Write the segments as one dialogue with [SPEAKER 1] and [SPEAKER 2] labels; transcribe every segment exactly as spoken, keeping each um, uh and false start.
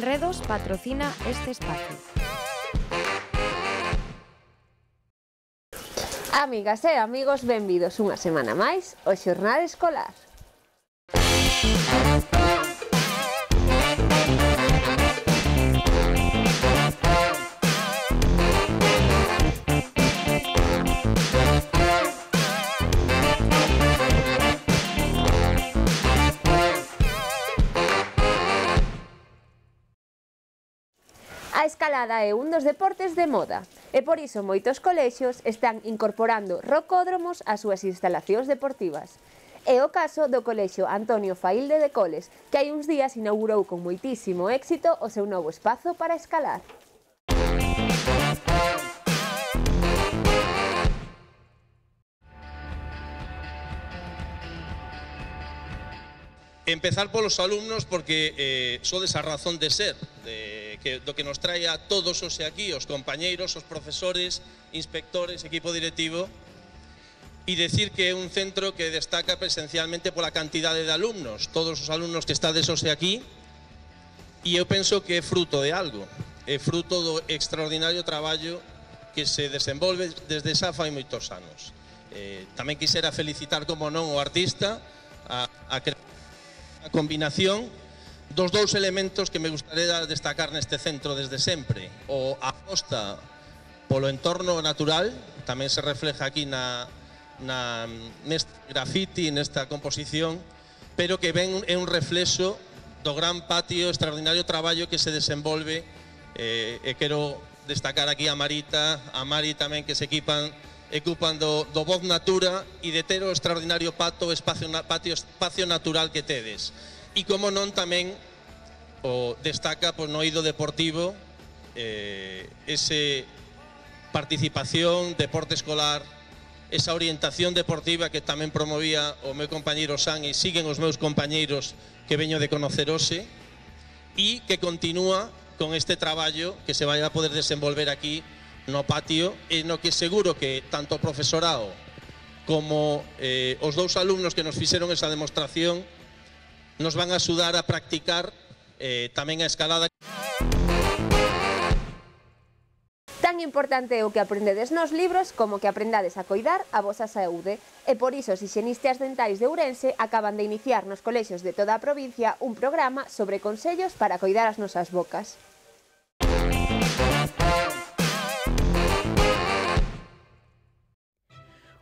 [SPEAKER 1] Enredos patrocina este espacio.
[SPEAKER 2] Amigas e amigos, benvidos unha semana máis ao Xornal Escolar. A escalada é un dos deportes de moda e por iso moitos colexios están incorporando rocódromos ás súas instalacións deportivas. É o caso do Colexio Antonio Faílde de Coles, que hai uns días inaugurou con moitísimo éxito o seu novo espazo para escalar.
[SPEAKER 3] Empezar polos alumnos porque eh, sodes a razón de ser de, que, do que nos trae a todos os aquí, os compañeiros, os profesores, inspectores, equipo directivo, e decir que é un centro que destaca presencialmente pola cantidade de alumnos, todos os alumnos que estades hoxe aquí, e eu penso que é fruto de algo, é fruto do extraordinario traballo que se desenvolve desde xa fai moitos anos. Eh, tamén quixera felicitar, como non, o artista, a, a a combinación dos dous elementos que me gustaría destacar neste centro desde sempre. O aposta polo entorno natural, tamén se refleja aquí na, na, neste graffiti, nesta composición, pero que ven é un reflexo do gran patio, extraordinario traballo que se desenvolve, eh, e quero destacar aquí a Marita, a Mari tamén, que se equipan ocupan do, do Voz Natura e de ter o extraordinario pato, espacio, patio, espacio natural que tedes. E como non tamén o destaca pois, no eido deportivo eh, ese participación, deporte escolar, esa orientación deportiva que tamén promovía o meu compañeiro San e siguen os meus compañeiros que veño de conocer hoxe e que continúa con este traballo que se vai a poder desenvolver aquí no patio e no que seguro que tanto o profesorado como eh, os dous alumnos que nos fixeron esa demostración nos van a axudar a practicar eh, tamén a escalada.
[SPEAKER 2] Tan importante é o que aprendedes nos libros como que aprendades a coidar a vosa saúde e por iso os hixienistas dentais de Ourense acaban de iniciar nos colexios de toda a provincia un programa sobre consellos para coidar as nosas bocas.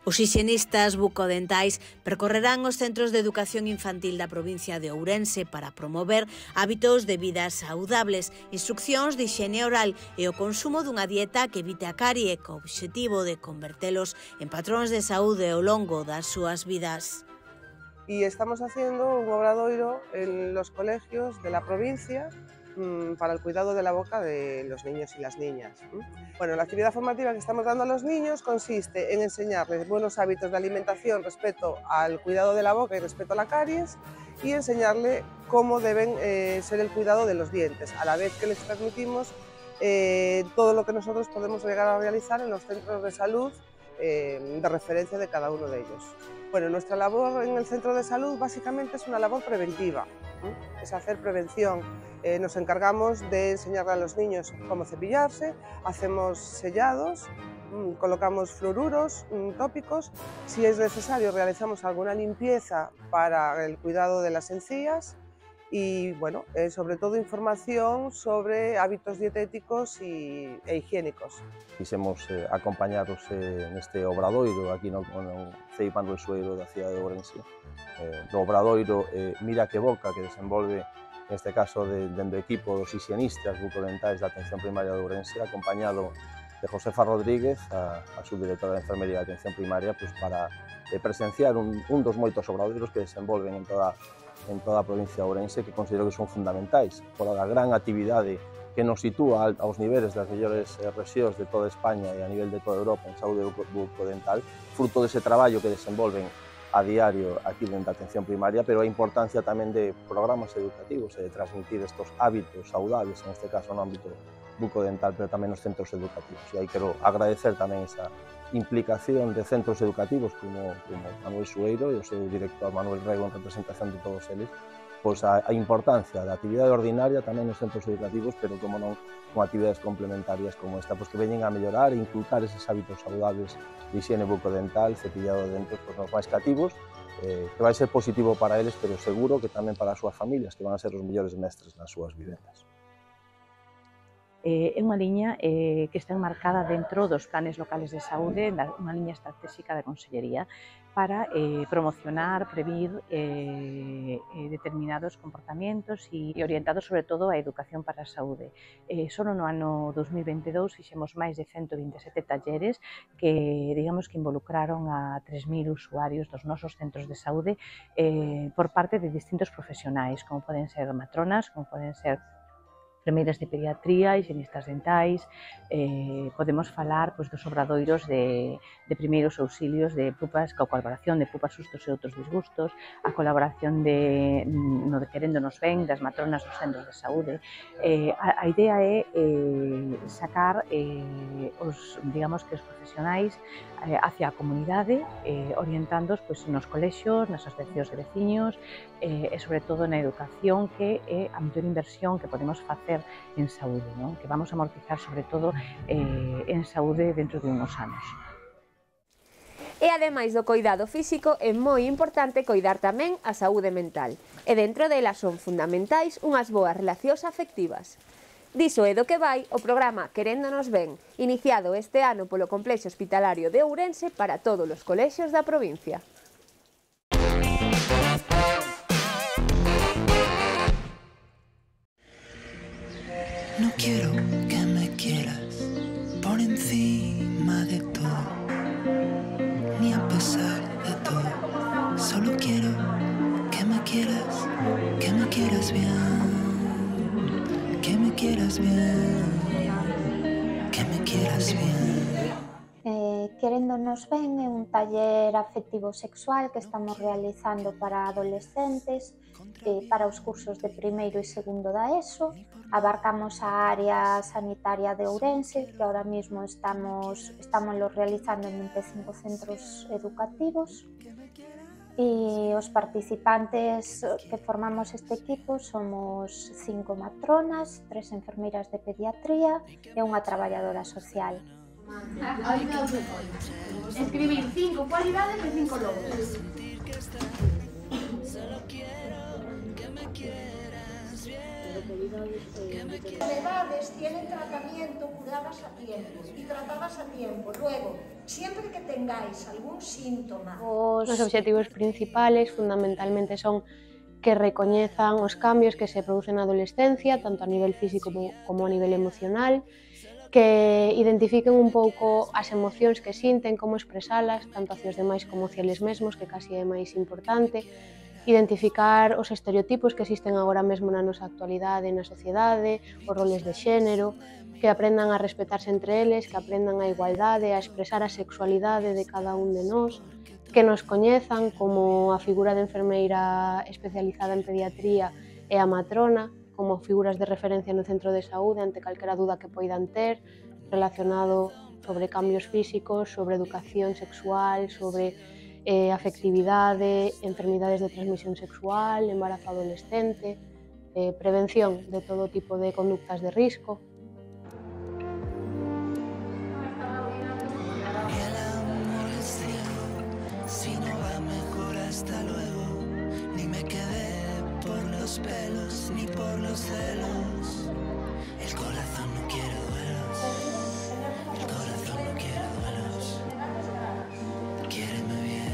[SPEAKER 4] Os hixienistas bucodentais percorrerán os centros de educación infantil da provincia de Ourense para promover hábitos de vida saudables, instruccións de higiene oral e o consumo dunha dieta que evite a carie co obxectivo de convertelos en patróns de saúde ao longo das súas vidas.
[SPEAKER 5] Y estamos haciendo un obradoiro en los colegios de la provincia para el cuidado de la boca de los niños y las niñas. Bueno, la actividad formativa que estamos dando a los niños consiste en enseñarles buenos hábitos de alimentación respecto al cuidado de la boca y respecto a la caries y enseñarle cómo deben eh, ser el cuidado de los dientes, a la vez que les transmitimos eh, todo lo que nosotros podemos llegar a realizar en los centros de salud eh, de referencia de cada uno de ellos. Bueno, nuestra labor en el centro de salud básicamente es una labor preventiva, ¿eh? Es hacer prevención. Eh, nos encargamos de enseñarle a los niños cómo cepillarse, hacemos sellados, mmm, colocamos fluoruros mmm, tópicos, si es necesario realizamos alguna limpieza para el cuidado de las encías y bueno, eh, sobre todo información sobre hábitos dietéticos y, e higiénicos.
[SPEAKER 6] Quisemos eh, acompañaros eh, neste obradoiro aquí no, no Ceipan do Sueiro da cidade de Ourense, eh, do obradoiro eh, Mira que Boca, que desenvolve neste caso de, dende o equipo dos hixienistas bucodentais da atención primaria de Ourense, acompañado de Josefa Rodríguez, a, a subdirectora de Enfermería de Atención Primaria, pues, para eh, presenciar un, un dos moitos obradoiros que desenvolven en toda, en toda a provincia de Ourense, que considero que son fundamentais por a gran actividade que nos sitúa aos niveles das mellores eh, rexións de toda España e a nivel de toda Europa en saúde bucodental, fruto dese traballo que desenvolven a diario aquí dentro da atención primaria, pero a importancia tamén de programas educativos e de transmitir estos hábitos saudables, en este caso no ámbito bucodental, pero tamén nos centros educativos. E aí quero agradecer tamén esa implicación de centros educativos como, como Manuel Sueiro e o seu director Manuel Rego en representación de todos eles, pois, a, a importancia da actividade ordinaria tamén nos centros educativos, pero como non con actividades complementarias como esta, pois que veñen a mellorar e inculcar eses hábitos saludables de higiene bucodental, cepillado de dentes, pois, nos máis cativos, eh, que vai ser positivo para eles, pero seguro que tamén para as súas familias, que van a ser os mellores mestres nas súas vivendas.
[SPEAKER 7] É unha liña eh, que está enmarcada dentro dos planes locales de saúde, unha liña estratégica da Consellería para eh, promocionar, previr eh, determinados comportamientos e orientados sobre todo á educación para a saúde. Eh, só no ano dos mil veintidous fixemos máis de ciento vinte e sete talleres que, digamos, que involucraron a tres mil usuarios dos nosos centros de saúde eh, por parte de distintos profesionais, como poden ser matronas, como poden ser enfermeiras de pediatría, higienistas dentais, eh, podemos falar pois, dos obradoiros de, de primeiros auxilios de pupas, coa colaboración de pupas, sustos e outros disgustos, a colaboración de, no de Queréndonos Ben, das matronas dos centros de saúde. Eh, a, a idea é eh, sacar eh, os, digamos que os profesionais eh, hacia a comunidade, eh, orientándoos pois, nos colexios, nas asociacións de veciños eh, e sobre todo na educación, que é a mellor inversión que podemos facer en saúde, non? Que vamos a amortizar sobre todo eh, en saúde dentro de uns anos.
[SPEAKER 2] E ademais do coidado físico, é moi importante coidar tamén a saúde mental. E dentro delas son fundamentais unhas boas relacións afectivas. Diso é do que vai o programa Queréndonos Ben, iniciado este ano polo Complexo Hospitalario de Ourense para todos os colexios da provincia.
[SPEAKER 8] No quiero que me quieras por encima de todo, ni a pesar de todo. Solo quiero que me quieras, que me quieras bien, que me quieras bien, que me quieras bien.
[SPEAKER 9] Eh, Queréndonos Ben é un taller afectivo sexual que estamos realizando para adolescentes, eh, para os cursos de primeiro e segundo da ESO. Abarcamos a área sanitaria de Ourense, que ahora mismo estamos, estamos realizando en vinte e cinco centros educativos. E os participantes que formamos este equipo somos cinco matronas, tres enfermeiras de pediatría e unha traballadora social.
[SPEAKER 10] Escribir cinco cualidades de cinco logros. Enfermedades tienen tratamiento curadas a tiempo y tratadas a tiempo. Luego, siempre que tengáis algún síntoma...
[SPEAKER 11] Os obxectivos principales fundamentalmente son que recoñezan os cambios que se producen na adolescencia, tanto a nivel físico como a nivel emocional, que identifiquen un pouco as emocións que sinten, como expresalas, tanto hacia os demais como hacia eles mesmos, que casi é máis importante, identificar os estereotipos que existen agora mesmo na nosa actualidade, na sociedade, os roles de xénero, que aprendan a respetarse entre eles, que aprendan a igualdade, a expresar a sexualidade de cada un de nós, que nos coñezan como a figura de enfermeira especializada en pediatría e a matrona, como figuras de referencia no centro de saúde ante calquera duda que poidan ter relacionado sobre cambios físicos, sobre educación sexual, sobre eh, afectividade, enfermidades de transmisión sexual, embarazo adolescente, eh, prevención de todo tipo de conductas de risco.
[SPEAKER 8] Si no va mejor hasta luego, ni me quedé por los pelos ni por los celos. El corazón no quiere duelos, el corazón no quiere duelos. Quiéreme bien.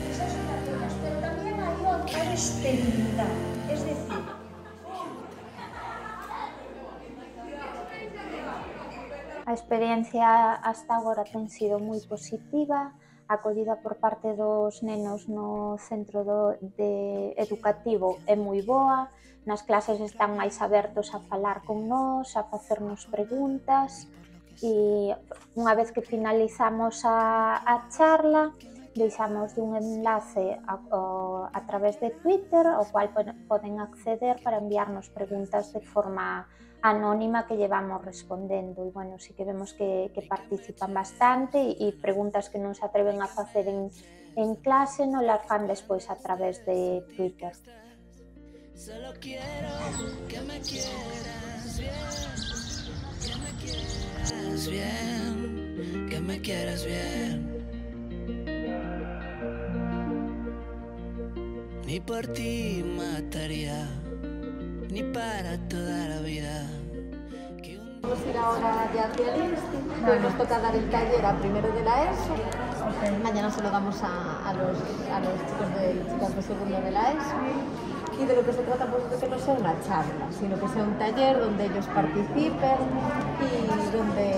[SPEAKER 10] Pero también hay otra esterilidad, es decir,
[SPEAKER 9] a experiencia hasta agora ten sido moi positiva, a acollida por parte dos nenos no centro do, de educativo é moi boa, nas clases están máis abertos a falar con nós, a facernos preguntas, e unha vez que finalizamos a, a charla, deixamos un enlace a, a, a través de Twitter, ao cual poden acceder para enviarnos preguntas de forma anónima que llevamos respondendo. E, bueno, sí que vemos que, que participan bastante e preguntas que non se atreven a facer en, en clase non las fan despois a través de Twitter.
[SPEAKER 8] Solo quiero que me quieras bien, que me quieras bien, que me quieras bien. Ni por ti mataría, ni para toda la vida.
[SPEAKER 12] Vamos a ir ahora ya hacia el Insti, que hoy nos toca dar el taller a primero de la ESO. Okay. Mañana se lo damos a, a, los, a los chicos de, chicas de segundo de la ESO. Y de lo que se trata, pues, de que no sea una charla, sino que sea un taller donde ellos participen y donde,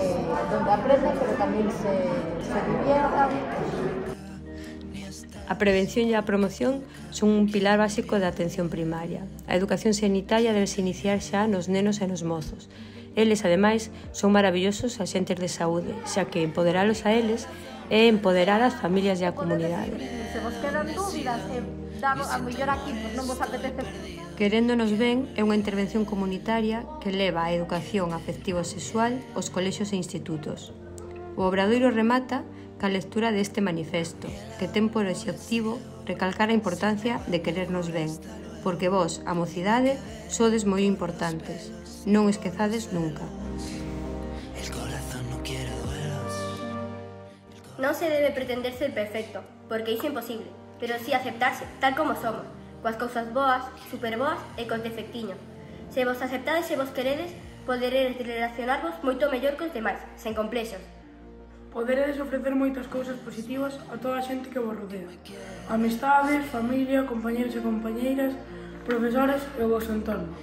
[SPEAKER 12] donde aprendan, pero también se, se diviertan.
[SPEAKER 13] A prevención e a promoción son un pilar básico da atención primaria. A educación sanitaria debe se iniciar xa nos nenos e nos mozos. Eles, ademais, son maravillosos axentes de saúde, xa que empoderalos a eles é empoderar as familias e a comunidade.
[SPEAKER 12] Se vos quedan dúbidas, eh, damos, a mellor aquí pues, non vos apetece.
[SPEAKER 13] Queréndonos ben é unha intervención comunitaria que leva a educación afectivo-sexual aos colexios e institutos. O obradoiro remata ca lectura deste manifesto, que ten por obxectivo recalcar a importancia de querernos ben, porque vos, a mocidade, sodes moi importantes. Non esquezades nunca.
[SPEAKER 14] Non se debe pretender ser perfecto, porque iso é imposible, pero sí aceptarse tal como somos, coas cousas boas, superboas e cos defectiños. Se vos aceptades e vos queredes, poderedes relacionarvos moito mellor que os demais, sen complexos.
[SPEAKER 15] Poderedes ofrecer moitas cousas positivas a toda a xente que vos rodea. Amistades, familia, compañeros e compañeiras, profesores e o vosso entorno.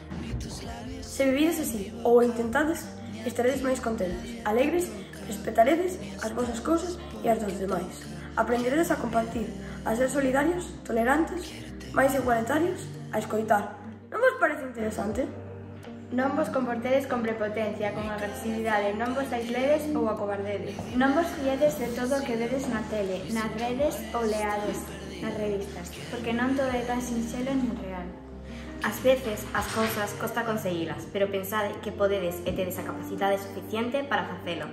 [SPEAKER 16] Se vivides así, ou intentades, estaredes máis contentos, alegres, respetaredes as vosas cousas e as dos demais. Aprenderedes a compartir, a ser solidarios, tolerantes, máis igualitarios, a escoitar. Non vos parece interesante?
[SPEAKER 17] Non vos comportedes con prepotencia, con agresividade, non vos aisledes ou acobardedes. Non vos fiedes de todo o que vedes na tele, nas redes ou leades nas revistas, porque non todo é tan sinxelo nin real.
[SPEAKER 14] Ás veces, as cousas costa conseguilas, pero pensade que podedes e tedes a capacidade suficiente para facelo.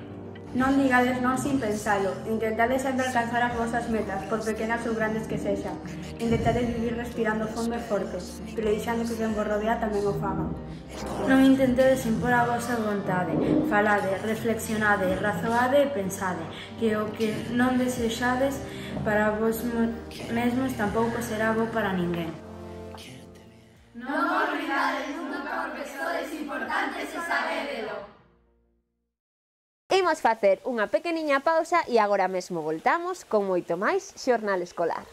[SPEAKER 16] Non digades non sin pensalo, intentades sempre alcanzar as vosas metas, por pequenas ou grandes que sexan. Intentades vivir respirando fondo e forte, pero deixando que quen vos rodea tamén o faga.
[SPEAKER 17] Non intentedes impor a vosa vontade, falade, reflexionade, razoade e pensade, que o que non desexades para vos mesmos tampouco será bo para ninguén.
[SPEAKER 18] Non vos ridades nunca porque sodes importantes e sabédelo.
[SPEAKER 2] Imos facer unha pequeniña pausa e agora mesmo voltamos con moito máis Xornal Escolar.